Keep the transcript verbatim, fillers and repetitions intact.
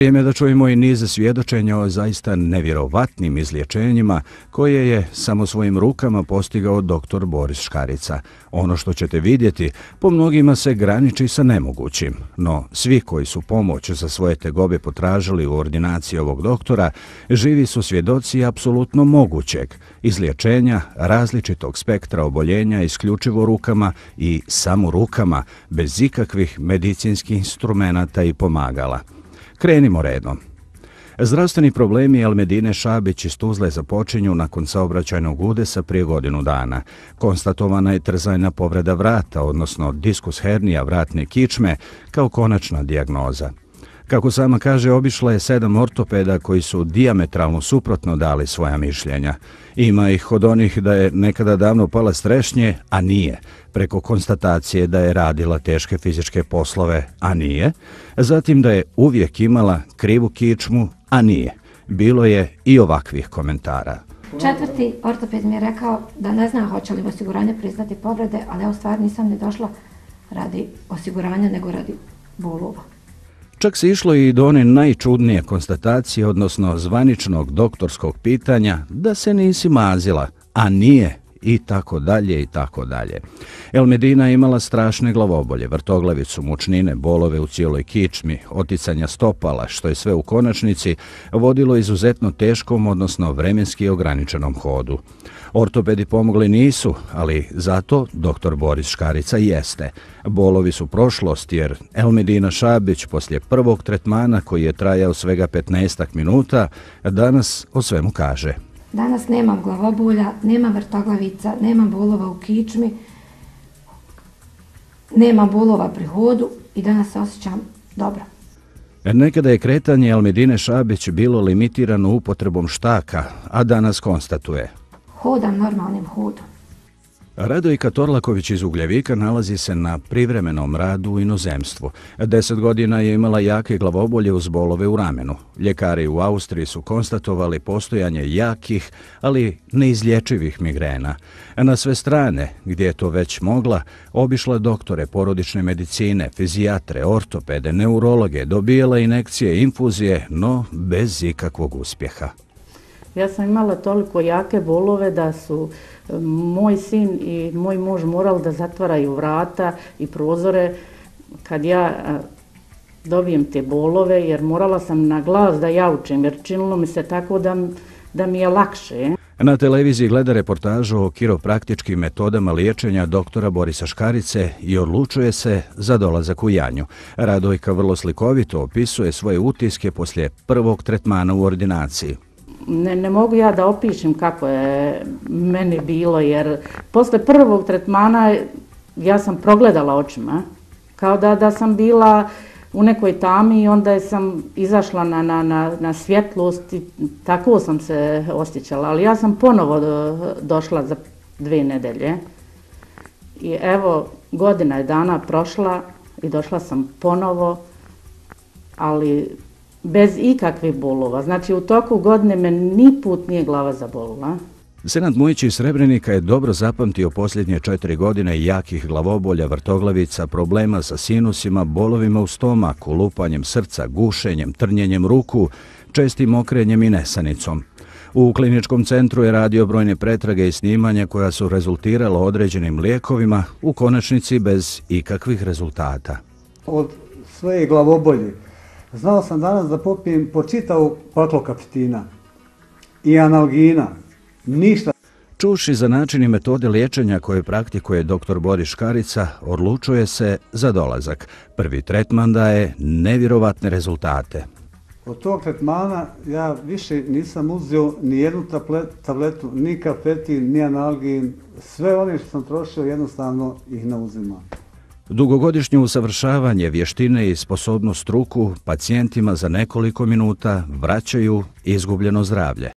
Vrijeme da čujemo i niz svjedočenja o zaista nevjerovatnim izlječenjima koje je samo svojim rukama postigao doktor Boris Škarica. Ono što ćete vidjeti po mnogima se graniči sa nemogućim, no svi koji su pomoć za svoje tegobe potražili u ordinaciji ovog doktora živi su svjedoci apsolutno mogućeg izlječenja različitog spektra oboljenja isključivo rukama i samo rukama bez ikakvih medicinskih instrumenata i pomagala. Krenimo redom. Zdravstveni problemi Elmedine Šabić iz Tuzle započinju nakon saobraćajnog udesa prije godinu dana. Konstatovana je trzajna povreda vrata, odnosno diskus hernija vratne kičme, kao konačna dijagnoza. Kako sama kaže, obišla je sedam ortopeda koji su dijametralno suprotno dali svoja mišljenja. Ima ih od onih da je nekada davno pala s trešnje, a nije, preko konstatacije da je radila teške fizičke poslove, a nije, zatim da je uvijek imala krivu kičmu, a nije. Bilo je i ovakvih komentara. Četvrti ortoped mi je rekao da ne zna hoće li osiguranje priznati povrede, ali ja u stvari nisam ni došla radi osiguranja, nego radi bolova. Čak se išlo i do one najčudnije konstatacije, odnosno zvaničnog doktorskog pitanja da se nisi mazila, a nije, i tako dalje i tako dalje. Elmedina imala strašne glavobolje, vrtoglavicu, mučnine, bolove u cijeloj kičmi, oticanja stopala, što je sve u konačnici vodilo izuzetno teškom, odnosno vremenski ograničenom hodu. Ortopedi pomogli nisu, ali zato doktor Boris Škarica jeste. Bolovi su prošlost jer Elmedina Šabić poslije prvog tretmana koji je trajao svega petnaestak minuta danas o svemu kaže. Danas nemam glavobolja, nemam vrtoglavica, nemam bolova u kičmi, nemam bolova pri hodu i danas se osjećam dobro. Nekada je kretanje Elmedine Šabić bilo limitirano upotrebom štaka, a danas konstatuje: hodam normalnim hodom. Radojka Torlaković iz Ugljevika nalazi se na privremenom radu u inozemstvu. Deset godina je imala jake glavobolje uz bolove u ramenu. Ljekari u Austriji su konstatovali postojanje jakih, ali neizlječivih migrena. Na sve strane, gdje je to već mogla, obišla doktore porodične medicine, fizijatre, ortopede, neurologe, dobijala injekcije, infuzije, no bez ikakvog uspjeha. Ja sam imala toliko jake bolove da su moj sin i moj muž morali da zatvaraju vrata i prozore kad ja dobijem te bolove, jer morala sam na glas da jaučem, jer činilo mi se tako da, da mi je lakše. Na televiziji gleda reportažu o kiropraktičkim metodama liječenja doktora Borisa Škarice i odlučuje se za dolazak u Janju. Radojka vrlo slikovito opisuje svoje utiske poslije prvog tretmana u ordinaciji. Ne, ne mogu ja da opišem kako je meni bilo, jer posle prvog tretmana ja sam progledala očima, kao da, da sam bila u nekoj tami i onda sam izašla na, na, na, na svjetlost i tako sam se osjećala, ali ja sam ponovo do, došla za dve nedelje i evo godina je dana prošla i došla sam ponovo, ali bez ikakvih bolova. Znači u toku godine me ni put nije glava zabolila. Senad Mujić iz Srebrenika je dobro zapamtio posljednje četiri godine jakih glavobolja, vrtoglavica, problema sa sinusima, bolovima u stomaku, lupanjem srca, gušenjem, trnjenjem ruku, čestim okrenjem i nesanicom. U kliničkom centru je radio brojne pretrage i snimanja koja su rezultirala određenim lijekovima, u konačnici bez ikakvih rezultata. Od svoje glavobolje znao sam danas da popijem po čitavu paklo kapitina i analgina, ništa. Čuši za način i metode liječenja koje praktikuje doktor Boris Škarica, odlučuje se za dolazak. Prvi tretman daje nevjerovatne rezultate. Od tog tretmana ja više nisam uzeo ni jednu tabletu, ni kafetin, ni analgin. Sve one što sam trošio jednostavno ih ne uzimam. Dugogodišnje usavršavanje, vještine i sposobnost ruku pacijentima za nekoliko minuta vraćaju izgubljeno zdravlje.